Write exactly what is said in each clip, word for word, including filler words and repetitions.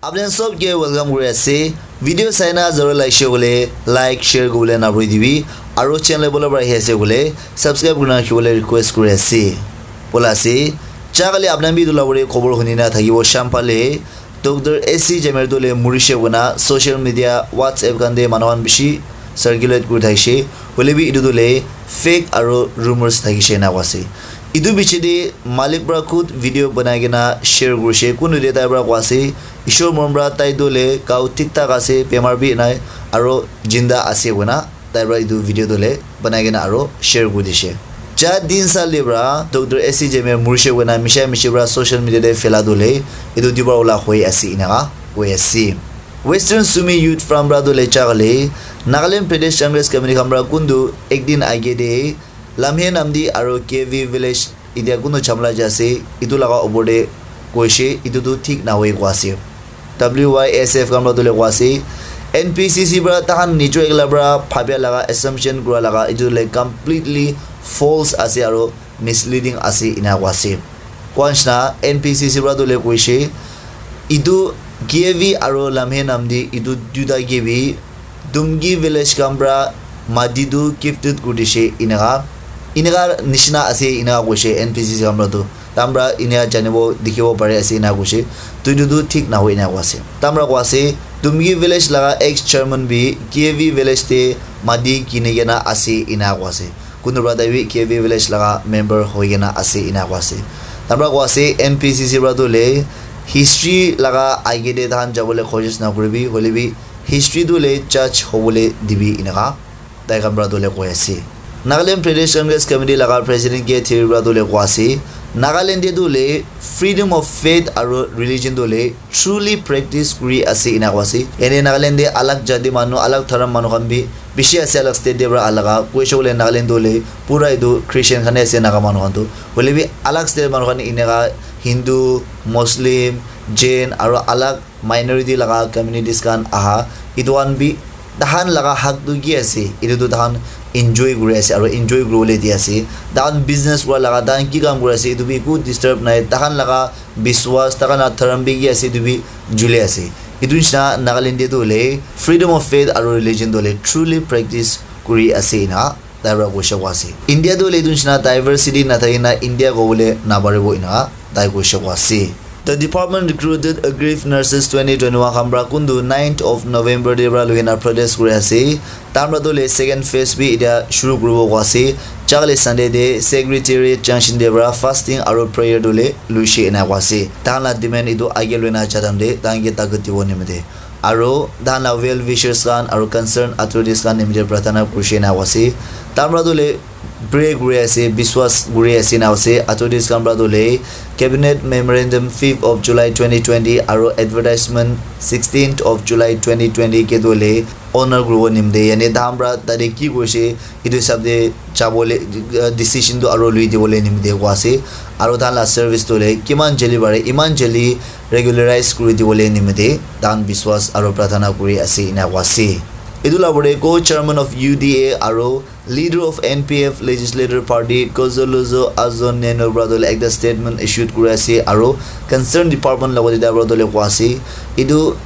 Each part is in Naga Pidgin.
Apni sob ke welcome kuri ase. Video saina jara lagishe koile like, share kobole na bhuli dibi. Aro channel bole para ahi ase koile subscribe kurina rakhibole request kuri ase. Bola ase. Cha kali apni bi etu la bole khobor huni na thakibo sham phale. Doctor S C Jamer tu le murishe koina social media, WhatsApp khan te manu khan bishi circulate kuri thakishe. Hoile bi etu tu le fake aro rumors thakishe ena koa ase. Etu biche te malik para khud video banai kena share kurishe. Kuntu te tai para koa ase, "Ishwar morom para tai tu le gao thik thak ase, bemar bi nai, aro jinda ase," koina. Tai para etu video tu le banai kena aro share kuri dishe. Cha din sal te para Doctor S C Jamer murishe koina misha mishi para social media te phela tu le etu dibar wala hoi ase enaka koi ase. Western Sumi Youth Front para tu le cha kale Nagaland Pradesh Congress Committee khan para kuntu ek din age te Lamhe Namdi aro K V Village Etia kunu chamla jai ase, etu laga opor te koishe, etu tu thik nahoi koa ase. W Y S F khan para tu le koa ase, N P C C para tahan nijo ekla para bhabia laga assumption kura laga etu le completely false ase aro misleading ase ena koa ase. Koa nishina N P C C para tu le koishe, etu K V aro Lamhe Namdi etu duita ke bi Dumgi village khan para mati tu gifted kuri dishe enaka, enaka nishina ase enaka koishe N P C C khan para tu. Tahan para enaka janibo dikhibo pari ase enaka koishe. Tu etu tu thik nahoi enaka koa ase. Tahan para koa ase Dumgi village laga ex chairman bi K V village te mati kini kena ase enaka koa ase. Kuntu para tai bi K V village laga member hoi kena ase enaka koa ase. Tahan para koa ase N P C C para tu le history laga age te tahan jabole koshish nakuribi, hoile bi history tu le judge hobole dibi enaka tai khan para tu le koi ase. Nagaland Pradesh Congress Committee laga President K Thiri para tu le koi ase, Nagaland te tu le freedom of faith aro religion tu le truly practice kuri ase ena koi ase. Yate Nagaland te alag jati manu, alag dharam manu khan bi bishi ase, alag state te para alaga. Koishe koile Nagaland tu le pura etu Christian khan ase Naga manu khan tu. Hoile bi alag state manu khan eneka Hindu, Muslim, Jain aro alag minority laga communities khan aha, etu khan bi tahan laga hak tu ki ase, etu tu tahan enjoy kuri ase aro enjoy kuribole di ase. Tahan business kura laga, tahan ki kam kuri ase, etu bi eku disturb nai. Tahan laga biswas, tahan laga dharam bi ki ase, etu bi juli ase. Etu nishina Nagaland te tu hoile freedom of faith aro religion tu hoile truly practice kuri ase ena tai para koishe koa ase. India tu hoile etu nishina diversity nathaki na India kobole naparibo ena tai koishe koa ase. The department recruited aggrieved nurses twenty twenty-one khan para kuntu ninth of November te para lui kena protest kuri ase. Tahan para tu hoile second phase bi etia shuru kuribo koa ase. Cha kali Sunday te Secretariat Junction te para fasting aro prayer tu hoile luishe ena koa ase. Tahan la demand etu age lui na cha time te tahan ke takat dibo nimite. Aro tahan la well wishers khan aro concerned authorities khan nimite prarthana kurishe ena koa ase. Tahan para tu hoile pray kuri ase, biswas kuri ase ena ase. Authorities khan para tu hoile cabinet memorandum fifth of July twenty twenty aro advertisement sixteenth of July twenty twenty ke tu hoile honor kuribo nimite, yane tahan para tate ki koishe, etu hisab te jabole, uh, decision tu aro lui dibole nimite koa ase. Aro tahan la service tu hoile kiman jali pare, iman jali regularize kuri dibole nimite tahan biswas aro prarthana kuri ase ena koa ase. Etu la pore co-chairman of U D A aro leader of N P F legislator party Gonzalo Azon Neno para tu hoile ekta statement issued kuri ase aro concerned department logote tai para tu hoile koa ase. Etu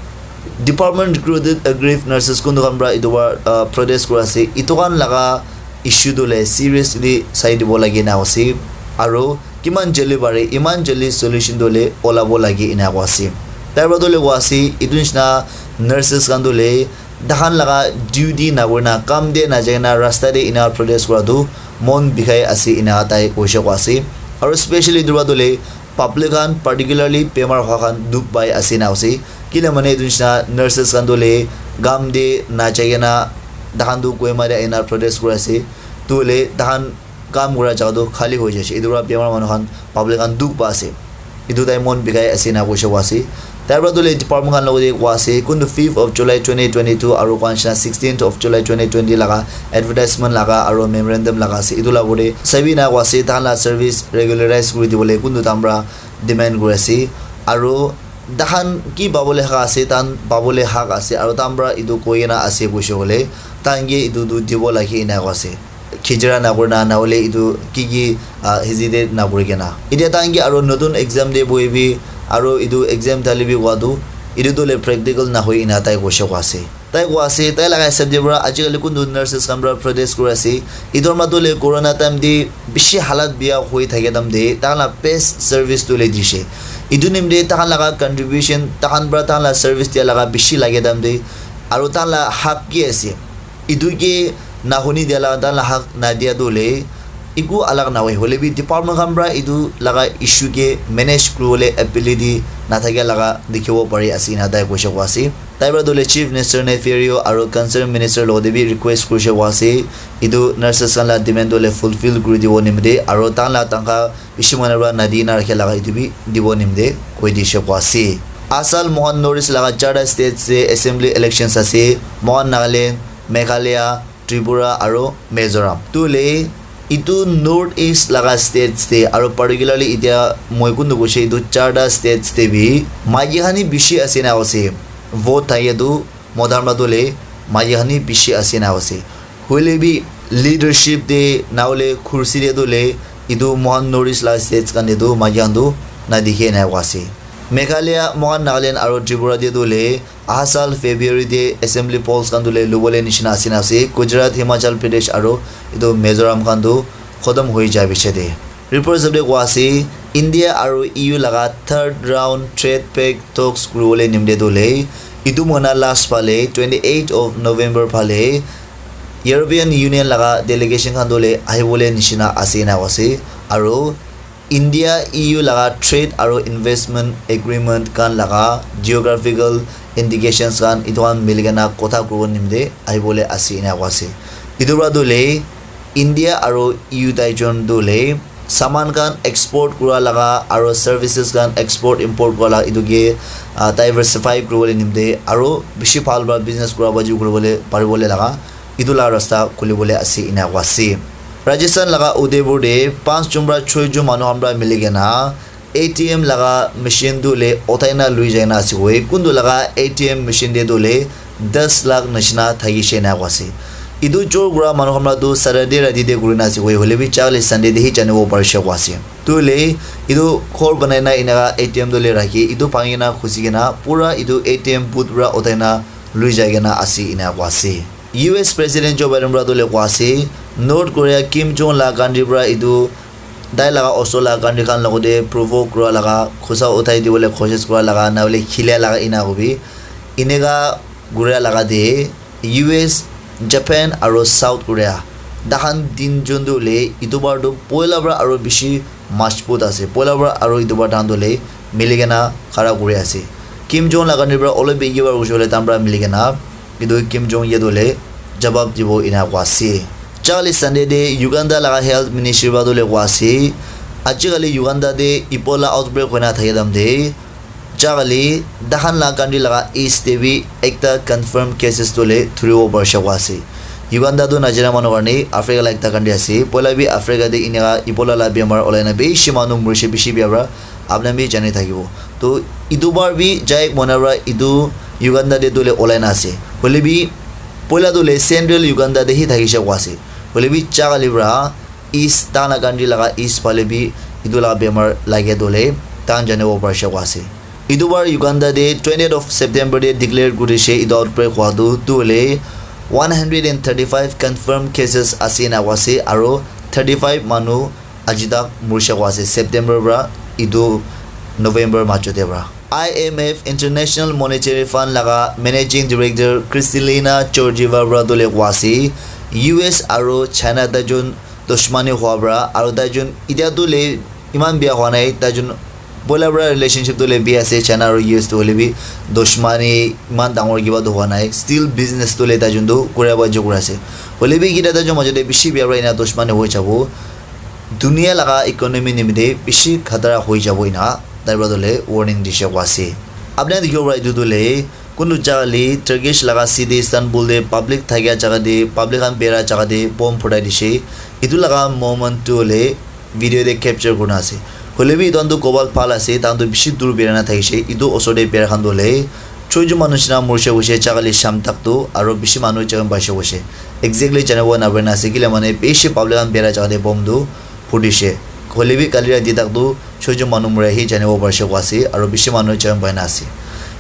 department recruited aggrieved nurses kuntu khan para etu para, uh, protest kuri ase. Etu khan laga issue tu hoile seriously sai dibo lage na ase. Aro kiman jali pare, iman jali solution tu hoile olabo lage ena koa ase. Tai para tu hoile koa ase, etu nishina nurses khan tu hoile tahan laga duty na kurina, kam te na jaina, rasta te ena protest kura tu mon bikhai ase ena tai koishe koa ase. Aro specially etu para tu hoile public khan, particularly bemar hoa khan dukh pai ase ena ase. Kile mane etu nishina nurses khan tu hoile kam te na jaina, tahan tu Kohima te ahina protest kuri ase. Tu hoile tahan kam kura jaga tu khali hoi jaise. Etu para bemar manu khan, public khan dukh pa ase. Etu tai mon bikhai ase ena koishe koa ase. Tai para tu hoile department khan logote koa ase, kuntu fifth of July twenty twenty-two aro koa nishina sixteenth of July twenty twenty laga advertisement laga aro memorandum laga ase. Etu la pore sabi na koa ase, tahan la service regularize kuri dibole kuntu tahan para demand kuri ase. Aro tahan ki pabole hak ase, tahan pabole hak ase, aro tahan para etu koi kena ase koishe koile, tahan ke etu tu dibo lage ena koa ase. khijira nakurina, nahole etu ki ki, ah, hizite nakurikena. Etia tahan ke aro notun exam te bohibi, aro etu exam thali bi kowa tu, etu tu le practical nahoi ena tai koishe kowa ase. Tai kowa ase, tai laga hisab te para ajikali kuntu nurses khan para protest kuri ase. Etu mato le corona time te bishi halat biya hoi thakia time te, tahan la best service tu le dishe. Etu nimite tahan laga contribution, tahan para tahan la service dia laga bishi lage time te, aro tahan la hak ki ase? Etu ke nahuni dia la, tahan la hak nadia tu le, eku alag nahoi. Hole bi department khan para etu laga issue ke manage kuribole ability nathakia laga dikhibo pari ase, ena tai koishe kowa ase. Tai para tu le Chief Minister Neiphiu Rio aro concerned minister logote bi request kurishe kowa ase, etu nurses khan la demand tu le fulfill kuri dibo nimite, aro tahan la tangkha bishi manu para nadi na rakhe laga etu bi dibo nimite koi dishe kowa ase. Asal mohan North East laga charta states te assembly elections ase, mohan Nagaland, Meghalaya, Tripura aro Mizoram. Tu le etu North East laga states te aro particularly etia moi kuntu koishe etu charta states te bi maiki khan hi bishi ase na ase. Vote thake tu mota para tu le maiki khan hi bishi ase na ase. Hoile bi leadership te nahole kursi te tu le etu mohan North East laga states khan te tu maiki khan tu nadikhe na ase. Meghalaya, mohan Nagaland aro Tripura te tu le aha sal February te assembly polls khan tu le lubole nishina ase na ase. Gujarat, Himachal Pradesh aro etu Mizoram khan tu khotom hoi jai piche te. Report hisab te kowa ase, India aro E U laga third round trade pact talks kuribole nimite tu le etu mohina last phale twenty eight of November phale European Union laga delegation khan tu le ahibole nishina ase ena kowa ase. Aro India E U laga trade aro investment agreement khan laga geographical indications khan etu khan mili kena kotha kuribo nimite ahibole ase ena kowa ase. Etu para tu le India aro E U tai jon tu le saman khan export kura laga aro services khan export import kura laga etu ke, ah, diversify kuribole nimite aro bishi bhal para business kura baji kuribole paribole laga etu la rasta khulibole ase ena kowa ase. Rajasthan laga Udaipur te panch jon para choi jon manu khan para mili kena A T M laga machine tu le uthai na lui jai na ase koi. Kuntu laga A T M machine te tu le das lakh nishina thakishe ena kowa ase. Etu chor kura manu khan para tu Saturday rati te kuri na ase koi. Hole bi chakali Sunday te hi janibo parishe kowa ase. Tu le etu ghor banai na enaka A T M tu le rakhi, etu bhangi na khusi kena pura etu A T M booth para uthai na lui jai kena ase ena kowa ase. U S President Joe Biden para tu le kowa ase, North Korea Kim Jong la country para etu tai laga osor la country khan logote provoke kura laga, khusa uthai dibole koshish kura laga, nahole khilia laga ena hobi. Eneka kuria laga te U S, Japan aro South Korea tahan tin jon tu le etu bar tu poila para aro bishi majbut ase. Poila para aro etu bar tahan tu le mili kena khara kuri ase. Kim Jong la country para olop bigi bar hoise koile tahan para mili kena etu Kim Jong ye tu le jawab dibo ena kowa ase. Chakali Sunday te Uganda laga health ministry para tu le kowa ase, ajikali Uganda te Ebola outbreak hoi na thaki time te chakali tahan la country laga east te bi ekta confirm cases tu le thuribo parishe kowa ase. Uganda tu Nigeria manu karne Africa la ekta country ase. Poila bi Africa te eneka Ebola la bemar olai na bishi manu murishe, bishi bia para apni khan bi jani thakibo. To etu bar bi jai mona para etu Uganda te tu le olai na ase. Hole bi poila tu le central Uganda te hi thakishe kowa ase. Hole bi chakali para east, tahan la country laga east phale bi etu laga bemar lage tu le tahan janibo parishe kowa ase. Etu bar Uganda te twentieth of September te declare kurishe etu outbreak hua tu, tu hoile one hundred and thirty-five confirmed cases ase ena kowa ase, aro thirty-five manu aji tak murishe kowa ase, September para etu November majo te para. I M F, International Monetary Fund laga Managing Director Kristalina Georgieva para tu le kowa ase, U S aro China tai jun dushmani hua para, aro tai jun itya tu le iman bia hua nai, tai jun poila para relationship tu le bia ase, China aro U S tu hoile bi dushmani iman dangor kiba tu hua nai, still business tu le tai jun tu kuria ba jo kura ase. Hoile bi kita tai jun majo te bishi bia para ena dushmani hoi jabo, dunia laga economy nimite bishi khatara hoi jabo ena tai para tu le warning dishe kowa ase. Apni khan dikhibo para etu tu le kuntu jaga le Turkish laga city Istanbul te public thakia jaga te, public khan bera jaga te bomb phutai dishe. Etu laga moment tu hoile video te capture kurina ase. Hoile bi etu khan tu kobal bhal ase, tai khan tu bishi dur bera na thakishe. Etu osor te bera khan tu hoile choi jun manu nishina murishe hoishe, jaga le sham tak tu, aro bishi manu jaga paishe hoishe. exactly janibo naparina ase, kile mane bishi public khan birai jaga te bomb tu phudishe. Hoile bi kali rati tak tu chujo manu mura hi janibo parishe koa ase, aro bishi manu jon paina ase.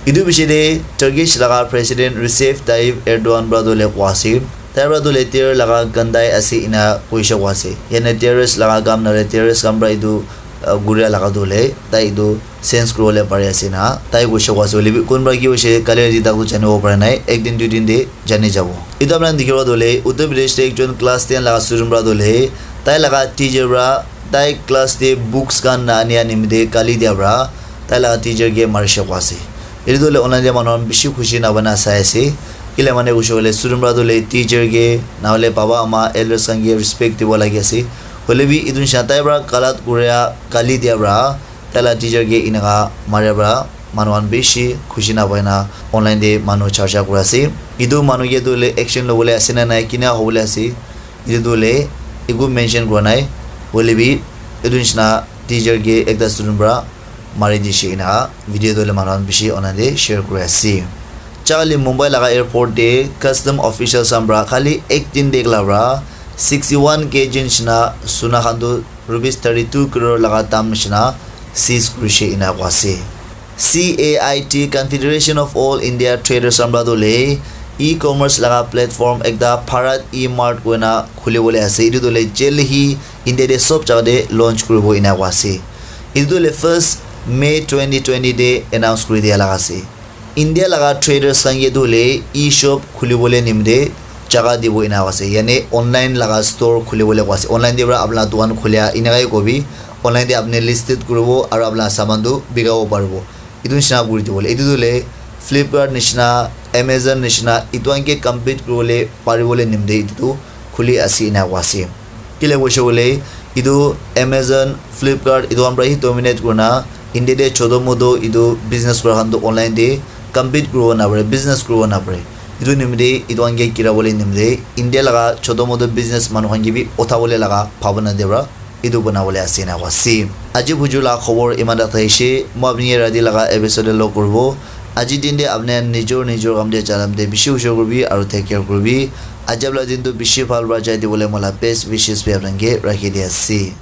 Etu bishi te Turkish laga President Recep Tayyip Erdogan para tu le koa ase, tai para tu le terror laga gandai ase ena koishe koa ase. Yane terrorist laga kam nale terrorist kam para etu, uh, guria laga tu le tai etu sense kuribole pari ase na tai koishe koa ase. Hoile bi kun para ki hoishe kali rati tak tu janibo para nai, ek din dui din te jani jabo. Etu apna dikhibo tu le Uttar Pradesh te ekjon class ten laga student para tu le tai laga teacher para tai class te books khan na ania nimite kali dia para tai laga teacher ke marishe koa ase. Etu tu le online te manu khan bishi khushi na bana sai ase. Kile mane koishe koile student para tu le teacher ke na hole baba ama elders khan ke respect dibo lagi ase. Hoile bi etu nisna tai para galat kuria kali dia para tai la teacher ke enaka maria para manu khan bishi khushi na pai na online te manu charcha kuri ase. Etu manu ke tu le action lobole ase na nai, kina hobole ase, etu tu le eku mention kura nai. Hoile bi etu nisna teacher ke ekta student para mari dishe enaka video tu le manu khan bishi online te share kuri ase. Chakali Mumbai laga airport te custom officials khan para khali ek din te ekla para sixty one K G nisna suna khan tu rupees thirty two crore laga dam nisna seize kurishe ena koa ase. C A I T, Confederation of All India Traders khan para tu le e-commerce laga platform ekta Bharat E-Mart koina khulibole ase. Etu tu le jaldi hi India te sob jaga te launch kuribo ena koa ase. Etu tu le first May twenty twenty te announce kuri dia laga ase. India laga traders khan ke tu le e-shop khulibole nimite jaga dibo ena koa ase. Yane online laga store khulibole koa ase. Online te para apna dukan khulia enaka he kobi. Online te apni listed kuribo aru apna saman tu bikabo paribo. Etu nisna kuri dibole. Etu tu le Flipkart nisna, Amazon nisna, etu khan ke compete kuribole paribole nimite etu tu khuli ase ena koa ase. Kile koishe koile etu Amazon, Flipkart etu khan para hi dominate kurina India te choto moto etu business kura khan tu online te compete kuribo napare, business kuribo napare. Etu nimite etu khan ke girabole nimite India laga choto moto business manu khan ke bi uthabole laga bhabana te para etu banabole ase ena koa ase. Aji buju la khobor iman tak thakishi, moi apni ke rati laga episode te log kuribo. Aji din te apni nijor nijor kam te jalam te bishi hushar kuribi aru take care kuribi. Ajab la din tu bishi bhal para jai dibole moi la best wishes bi apni ke rakhi di ase.